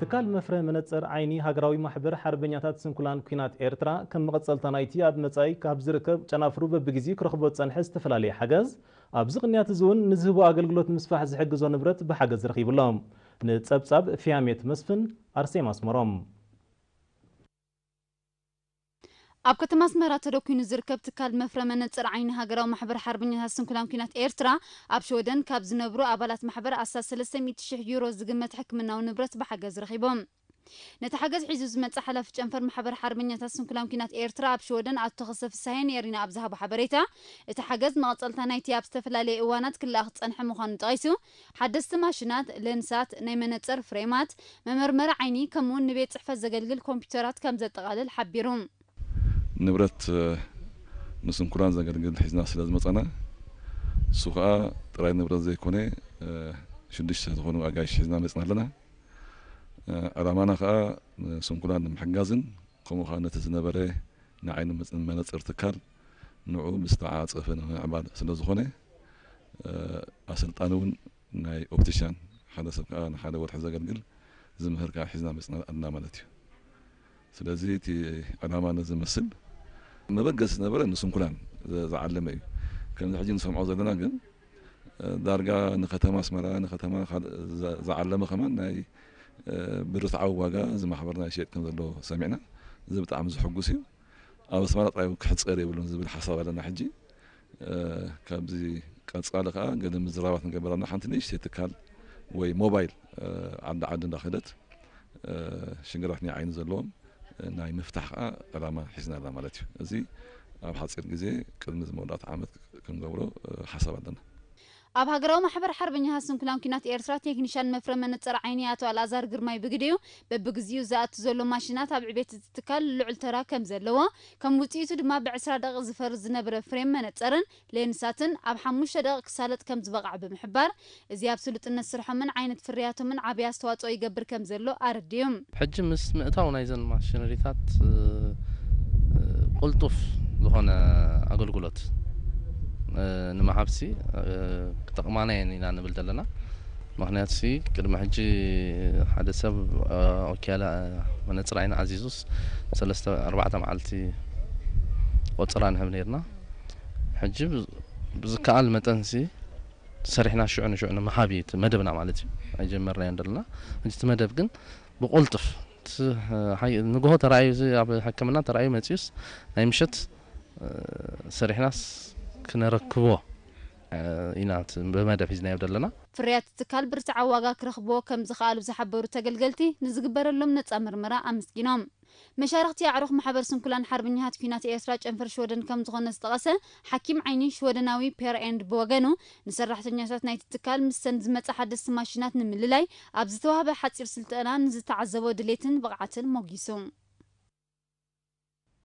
ትካል መፍረ መነጽር ዓይኒ ሃገራዊ ማሕበር ሓርበኛታት ስንኩላን ኲናት ኤርትራ፣ ከም መቐጸልታ ናይቲ ኣብ መጻኢ ካብ ዝርከብ ጨናፍሩ በብግዜኡ ክረኽቦ ዝጸንሐ ዝተፈላለየ ሓገዝ፣ ኣብዚ ቅንያት እዚ እውን ንዝህቦ ኣገልግሎት ምስፋሕ ዝሕግዞ ንብረት ብሓገዝ ረኺቡ ኣሎ። ንጸብጻብ ፊያሜት መስፍን፣ ኣርሴማ ኣስመሮም። ኣብ ከተማ ኣስመራ ተደኲኑ ዝርከብ ትካል መፍረ መነጽር ዓይኒ ሃገራዊ ማሕበር ሓርበኛታት ስንኩላን ኲናት ኤርትራ፣ ኣብ ሽወደን ካብ ዝነብሩ ኣባላት ማሕበር ኣስታት ሰለስተ ሚእቲ ሽሕ ዩሮ ዝግመት ሕክምናዊ ንብረት ብሓገዝ ረኺቦም። ነቲ ሓገዝ ሒዙ ዝመጽእ ሓላፊ ጨንፈር ማሕበር ሓርበኛታት ስንኩላን ኲናት ኤርትራ ኣብ ሽወደን ኣቶ ከሰ ፍሳሄ ነይሪና ኣብ ዝሃቦ ሓበሬታ፣ እቲ ሓገዝ መቐጸልታ ናይቲ ኣብ ዝተፈላለየ እዋናት ክለኣኽ ዝጸንሐ ምዃኑ ጠቒሱ፣ ሓደስቲ ማሽናት፣ ሌንሳት፣ ናይ መነጽር ፍሬማት፣ መመርመሪ ዓይኒ፣ ከምኡውን ንቤት ጽሕፈት ዘገልግል ኮምፒውተራት ከም ዘጠቓልል ሓቢሩ። ንብረት፣ እ፣ ንስንኩላን ዘገልግል ሒዝና ስለ ዝመጻና፣ እሱ ኸኣ ጥራይ ንብረት ዘይኮነ፣ እ፣ ሽዱሽተ ዝኾኑ ኣጋይሽ ሒዝና መጽና ኣለና። እ፣ ዕላማና ኸኣ ንስንኩላን ንምሕጋዝን፣ ከምኡ ኸኣ ነቲ ዝነበረ ንዓይኒ መጽ-፣ መነጽር ትካል ንዑ ብዝተዓጸፈ ንምዕባል ስለ ዝኾነ፣ እ፣ ኣሰልጣኒ እውን ናይ ኦፕቲሻን፣ ሓደ ሰብ ከኣ ንሓደ ወርሒ ዘገልግል ዝምህር ከኣ ሒዝና መጽና ኣለና ማለት እዩ። ስለዚ እቲ ዕላማ ነዚ ዝመስል መበገሲ ዝነበረ ንስንኩላን ዘ-፣ ዝዓለመ እዩ። ከምዚ ሕጂ ንሰምዖ ዘለና ግን፣ እ፣ ዳርጋ ንከተማ ኣስመራ፣ ንከተማ ካልእ ዘ-፣ ዝዓለመ ከማን ናይ፣ እ፣ ብርትዓዊ ዋጋ እዚ ማሕበርና ይሸየጥ ከም ዘሎ ሰሚዕና። እዚ ብጣዕሚ ዘሐጉስ እዩ። ኣብ ኣስመራ ጥራይ እውን ክሕጸር የብሉን ዝብል ሓሳብ ኣለና ሕጂ። እ፣ ካብዚ ቀጻሊ ከኣ ገለ ምዝራባት ንገብር ኣለና። ሓንቲ ንእሽተይ ትካል ወይ ሞባይል፣ እ፣ ዓዲ ዓዲ እንዳኸደት፣ እ፣ ሽግራት ናይ ዓይኒ ዘለዎም፣ እ፣ ናይ ምፍታሕ ከኣ ዕላማ ሒዝና ኣለና ማለት እዩ። እዚ ኣብ ሓጺር ግዜ ቅድሚ እዚ መወዳእታ ዓመት ክንገብሮ፣ እ፣ ሓሳብ ኣለና። ኣብ ሃገራዊ ማሕበር ሓርበኛታት ስንኩላን ኲናት ኤርትራ ቴክኒሻን መፍረ መነጽር ዓይኒ ኣቶ ኣልኣዛር ግርማይ ብግዲኡ፣ በብግዜኡ ዝኣቱ ዘሎ ማሽናት ኣብ ዕቤት እቲ ትካል ልዑል ተራ ከም ዘለዎ፣ ከም ውጽኢቱ ድማ ብዕስራ ደቂቕ ዝፈርስ ዝነበረ ፍሬም መነጽርን ሌንሳትን ኣብ ሓሙሽተ ደቂቕ ክሳለጥ ከም ዝበቕዐ ብምሕባር፣ እዚ ኣብ ስሉጥነት ስርሖምን ዓይነት ፍርያቶምን ዓቢ ኣስተዋጽኦ ይገብር ከም ዘሎ ኣረዲኡ። ሕጂ ምስ ምእታው ናይዘን ማሽነሪታት፣ እ፣ እ፣ ቅልጡፍ ዝኾነ ኣገልግሎት፣ እ፣ ንምሃብሲ፣ እ፣ ክጠቕማና እየን ኢና ንብል ዘለና። ምኽንያቱሲ ቅድሚ ሕጂ ሓደ ሰብ፣ እ፣ ኦኪያላ፣ እ፣ መነጽር ዓይኒ ኣዚዙስ ሰለስተ ኣርባዕተ መዓልቲ ቆጸራ ንህብ ነይርና። ሕጂ ብ-፣ ብዝከኣል መጠንሲ ሰሪሕና ሽዑ ንሽዑ ንምሃብ እዩ እቲ መደብና ማለት እዩ። ኣይጀመርናዮን ዘለና። ሕጂ እቲ መደብ ግን ብቕልጡፍ እቲ፣ እ፣ ሓይ-፣ ንግሆ ተራእዩ፣ እዚ ኣብ ሕክምና ተራእዩ መጺኡስ ናይ ምሸት፣ እ፣ ሰሪሕናስ ክነረክቦ፣ እ፣ ኢና እቲ ብመደብ ሒዝናዮ ዘለና። ፍርያት ትካል ብርትዓዊ ዋጋ ክረኽብዎ ከም ዝኸኣሉ ዝሓበሩ ተገልገልቲ፣ ንዝግበረሎም ነጻ ምርመራ ኣመስጊኖም። መሻርኽቲ ኣዕሩኽ ማሕበር ስንኩላን ሓርበኛታት ኲናት ኤርትራ ጨንፈር ሽወደን ከም ዝኾነ ዝጠቐሰ ሓኪም ዓይኒ ሽወደናዊ ፔር ኤንድ ብወገኑ፣ ንሰራሕተኛታት ናይቲ ትካል ምስተን ዝመጻ ሓደስቲ ማሽናት ንምልላይ ኣብ ዝተዋህበ ሓጺር ስልጠና ንዝተዓዘቦ ድሌትን ብቕዓትን ሞጊሱ።